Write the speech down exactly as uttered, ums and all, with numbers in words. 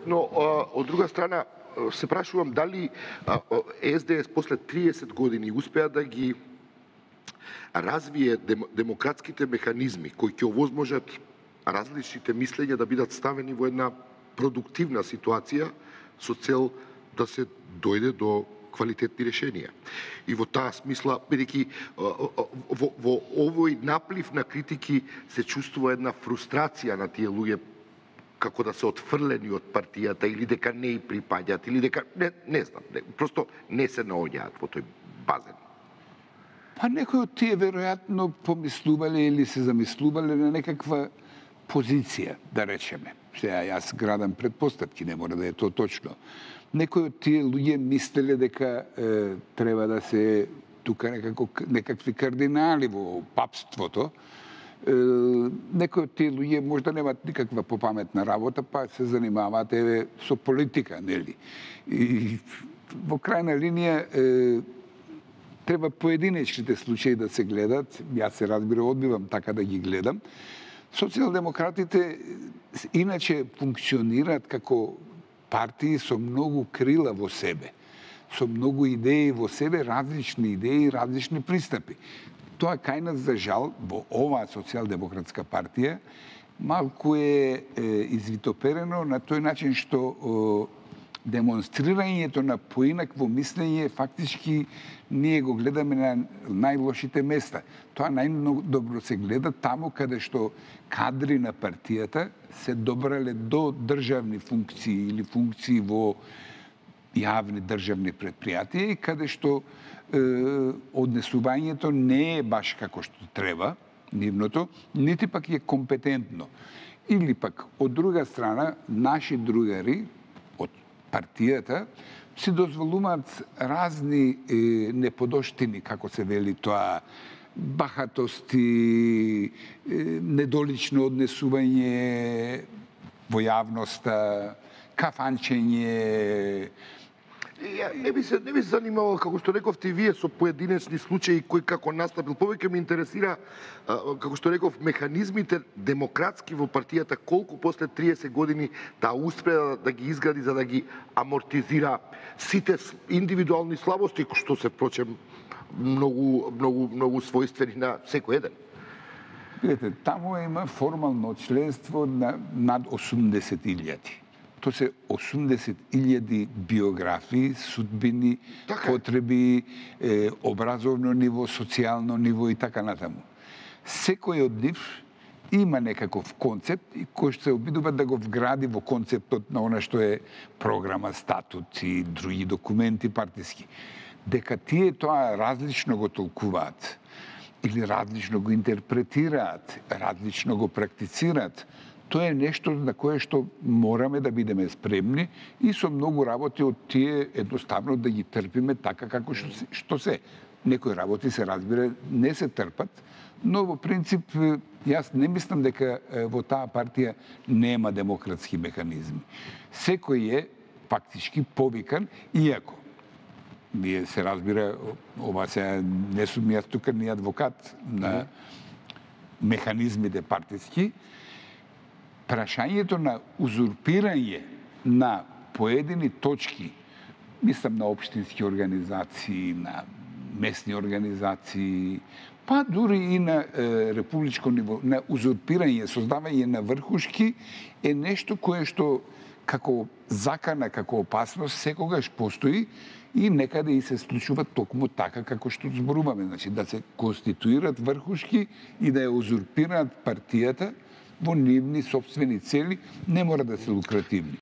Но од друга страна се прашувам дали Е Ес Де Ес после триесет години успеа да ги развие дем, демократските механизми кои ќе овозможат различните мислења да бидат ставени во една продуктивна ситуација со цел да се дојде до квалитетни решенија. И во таа смисла, бидејќи во, во овој наплив на критики се чувствува една фрустрација на тие луѓе како да се отфрлени од партијата или дека не и припаѓаат или дека не, не знам, не, просто не се наоѓаат во тој базен. Па некои од тие веројатно помислувале или се замислувале на некаква позиција, да речеме. Сега јас градам предпоставки, не мора да е тоа точно. Некои од тие луѓе мислеле дека е, треба да се тука некако некакви кардинали во папството. Е, некои од тие луѓе можда немаат никаква попаметна работа, па се занимаваат еве со политика, нели? И во крајна линија е, треба поединечните случаи да се гледат. Јас се разбира одбивам така да ги гледам. Социјалдемократите иначе функционираат како партии со многу крила во себе, со многу идеи во себе, различни идеи, различни пристапи. Тоа кај нас, за жал, во оваа социјалдемократска партија, малку е, е извитоперено на тој начин што о, демонстрирањето на поинакво мислење фактички ние го гледаме на најлошите места. Тоа најдобро се гледа таму каде што кадри на партијата се добрале до државни функции или функции во јавни државни предпријатија и каде што е, однесувањето не е баш како што треба, нивното, нити пак е компетентно. Или пак, од друга страна, наши другари од партијата си дозволуваат разни е, неподоштини, како се вели тоа, бахатости, е, недолично однесување во јавноста, кафанчење. Ја не би се не би се занимавал, како што рековте и вие, со поединечни случаи кои како настапил. Повеќе ме интересира, како што реков, механизмите демократски во партијата, колку после триесет години да успеа да ги изгради за да ги амортизира сите индивидуални слабости, што се впрочем многу многу многу својствени на секој еден. Видете, таму има формално членство на над осумдесет илјади. Тоа се осумдесет илјади биографии, судбини, така, потреби, е, образовно ниво, социјално ниво и така натаму. Секој од нив има некаков концепт и кој што се обидува да го вгради во концептот на она што е програма, статут и други документи партиски. Дека тие тоа различно го толкуваат или различно го интерпретираат, различно го практицираат, тоа е нешто на кое што мораме да бидеме спремни и со многу работи од тие едноставно да ги трпиме така како што, што се. Некои работи се разбира не се трпат, но во принцип јас не мислам дека во таа партија нема демократски механизми. Секој е фактички повикан, иако вие се разбира, ова се не сум јас тука ни адвокат на механизмите партиски, прашањето на узурпирање на поедини точки, мислам на општински организации, на местни организации, па дури и на е, републичко ниво, на узурпирање, создавање на врхушки, е нешто кое што како закана, како опасност, секогаш постои и некаде и се случува токму така како што зборуваме. Значи, да се конституират врхушки и да ја узурпираат партијата во нивни собствени цели, не мора да се лукративни.